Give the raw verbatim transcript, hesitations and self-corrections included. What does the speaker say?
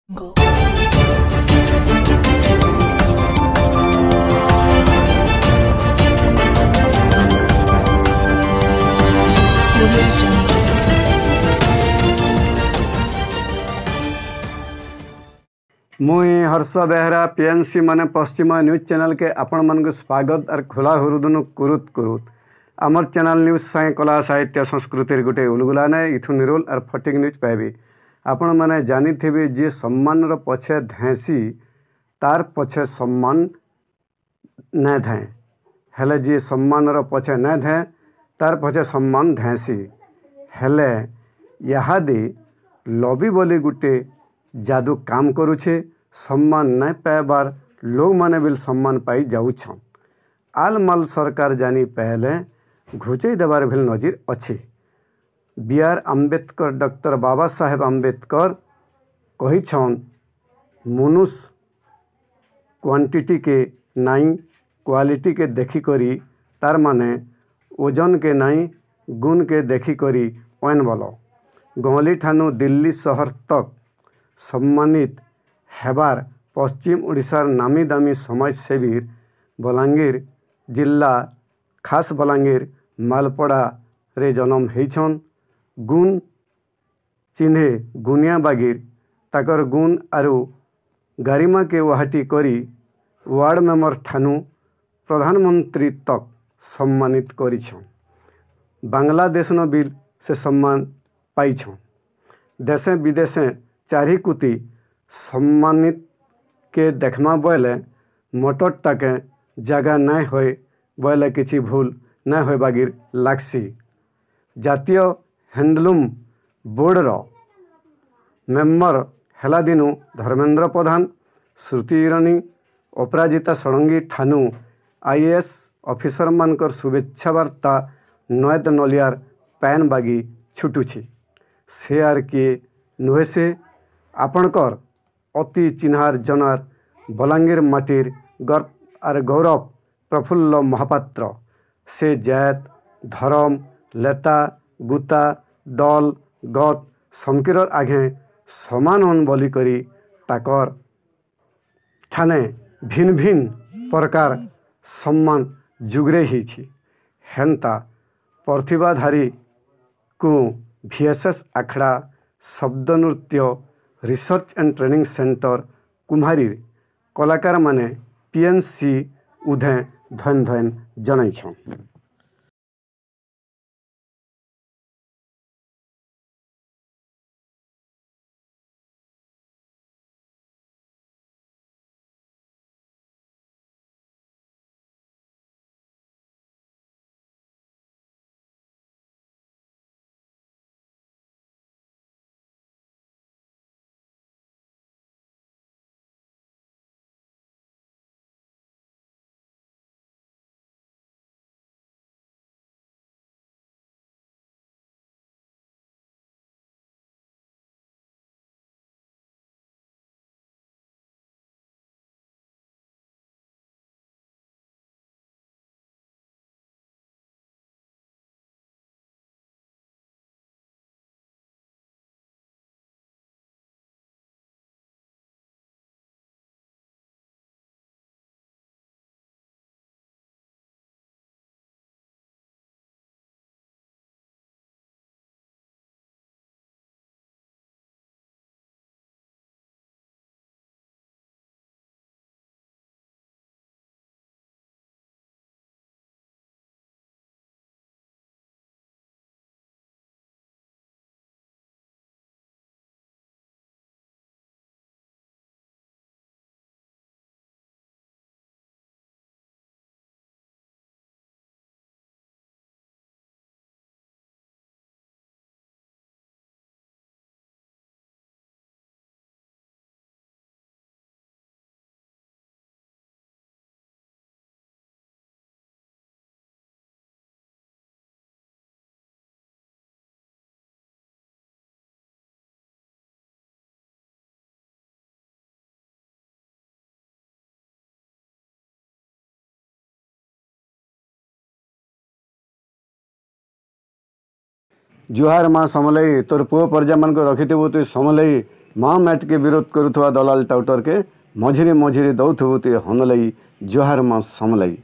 Go. Audio Jungle. ମୁଇଁ Harsh Behera PNC ମାନେ ପଶ୍ଚିମ ନ୍ୟୁଜ୍ ଚ୍ୟାନେଲ୍କେ ଆପଣମାନଙ୍କୁ ସ୍ୱାଗତ ଆର୍ ଖୋଲା ହୁରୁଦୁନୁ କୁରୁତ୍ କୁରୁତ୍। ଆମର୍ ଚ୍ୟାନେଲ୍ ନ୍ୟୁଜ୍ ସାଙ୍ଗେ କଲା, ସାହିତ୍ୟ, ସଂସ୍କୃତିର ଗୋଟେ ଉଲୁଗୁଲା ନାଇଁ। ଇଥୁ ନିରୋଲ ଆର୍ ଫଟିକ୍ ନ୍ୟୁଜ୍ ପାଇବେ। ଆପଣମାନେ ଜାନିଥିବେ, ଯିଏ ସମ୍ମାନର ପଛେ ଧାଇଁସି ତାର୍ ପଛେ ସମ୍ମାନ ନାଇଁ ଧାଏଁ, ହେଲେ ଯିଏ ସମ୍ମାନର ପଛେ ନାଇଁ ଧାଏଁ ତାର୍ ପଛେ ସମ୍ମାନ ଧାଇଁସି। ହେଲେ ଇହାଦେ ଲବି ବୋଲି ଗୁଟେ ଯାଦୁ କାମ କରୁଛେ। ସମ୍ମାନ ନାଇଁ ପାଇବାର୍ ଲୋକମାନେ ବି ସମ୍ମାନ ପାଇ ଯାଉଛନ୍। ଆଲ୍ ମାଲ୍ ସରକାର ଜାନି ପାଇଲେ ଘୁଚେଇ ଦେବାର ଭିଲ୍ ନଜିର ଅଛି। ବି ଆର୍ ଆମ୍ବେଦକର, ଡକ୍ଟର ବାବା ସାହେବ ଆମ୍ବେଦକର କହିଛନ୍, ମନୁଷ କ୍ୱାଣ୍ଟିଟିକେ ନାଇଁ କ୍ୱାଲିଟିକେ ଦେଖିକରି, ତାର୍ ମାନେ ଓଜନକେ ନାଇଁ ଗୁଣକେ ଦେଖିକରି ଅଏନ୍ ବଲ। ଗହଲି ଠାନୁ ଦିଲ୍ଲୀ ସହର ତକ୍ ସମ୍ମାନିତ ହେବାର୍ ପଶ୍ଚିମ ଓଡ଼ିଶାର ନାମୀ ଦାମୀ ସମାଜସେବୀ ବଲାଙ୍ଗୀର ଜିଲ୍ଲା, ଖାସ୍ ବଲାଙ୍ଗୀର ମାଲପଡ଼ାରେ ଜନମ ହେଇଛନ୍। ଗୁଣ ଚିହ୍ନେ ଗୁନିଆ ବାଗିର ତାକର ଗୁଣ ଆରୁ ଗାରିମାକେ ୱାହାଟି କରି ୱାର୍ଡ଼ ମେମ୍ବର ଠାନୁ ପ୍ରଧାନମନ୍ତ୍ରୀ ତକ୍ ସମ୍ମାନିତ କରିଛନ୍। ବାଂଲାଦେଶନ ବି ସେ ସମ୍ମାନ ପାଇଛନ୍। ଦେଶେ ବିଦେଶେ ଚାରିକୁତି ସମ୍ମାନିତକେ ଦେଖ୍ମା ବଏଲେ ମଟରଟାକେ ଜାଗା ନାଇଁ ହୋଏ ବଏଲେ କିଛି ଭୁଲ ନାଇଁ ହୋଏ ବାଗିର ଲାଗ୍ସି। ଜାତୀୟ ହ୍ୟାଣ୍ଡଲୁମ୍ ବୋର୍ଡ଼ର ମେମ୍ବର ହେଲା ଦିନୁ Dharmendra Pradhan, Smriti Irani, Aparajita Sarangi ଠାନୁ I A S ଅଫିସରମାନଙ୍କର ଶୁଭେଚ୍ଛା ବାର୍ତ୍ତା ନଏଦ ନଲିଆର ପାଏନ୍ ବାଗି ଛୁଟୁଛି। ସେ ଆର୍ କିଏ ନୁହେଁ, ସେ ଆପଣଙ୍କର ଅତି ଚିହ୍ନାର ଜନାର ବଲାଙ୍ଗୀର ମାଟିର ଗର୍ବ ଆର୍ ଗୌରବ ପ୍ରଫୁଲ୍ଲ ମହାପାତ୍ର। ସେ ଜାଏତ, ଧରମ, ଲେତା, ଗୁତା, ଦଲ, ଗତ ସମକିରର ଆଘେ ସମାନ ଅନ୍ ବୋଲିକରି ତାକର ଠାନେ ଭିନ୍ ଭିନ୍ ପ୍ରକାର ସମ୍ମାନ ଯୁଗରେ ହେଇଛି। ହେନ୍ତା ପ୍ରତିଭାଧାରୀକୁ ଭିଏସ୍ଏସ୍ ଆଖଡ଼ା ଶବ୍ଦ ନୃତ୍ୟ ରିସର୍ଚ୍ଚ ଆଣ୍ଡ ଟ୍ରେନିଂ ସେଣ୍ଟର କୁମ୍ହାରୀ କଳାକାରମାନେ ପିଏନ୍ସି ଉଧେ ଧନ୍ ଧନ୍ ଜଣାଇଛନ୍। ଜୁହାର ମା ସମଲେଇ, ତୋର ପୁଅ ପରଜାମାନଙ୍କୁ ରଖିଥିବୁ ତୁଇ ସମଲେଇ। ମା ମାଟିକେ ବିରୋଧ କରୁଥିବା ଦଲାଲ ଟାଉଟରକେ ମଝିରେ ମଝିରେ ଦଉଥିବୁ ତୁଇ ହନଲେଇ। ଜୁହାର ମା ସମଲେଇ।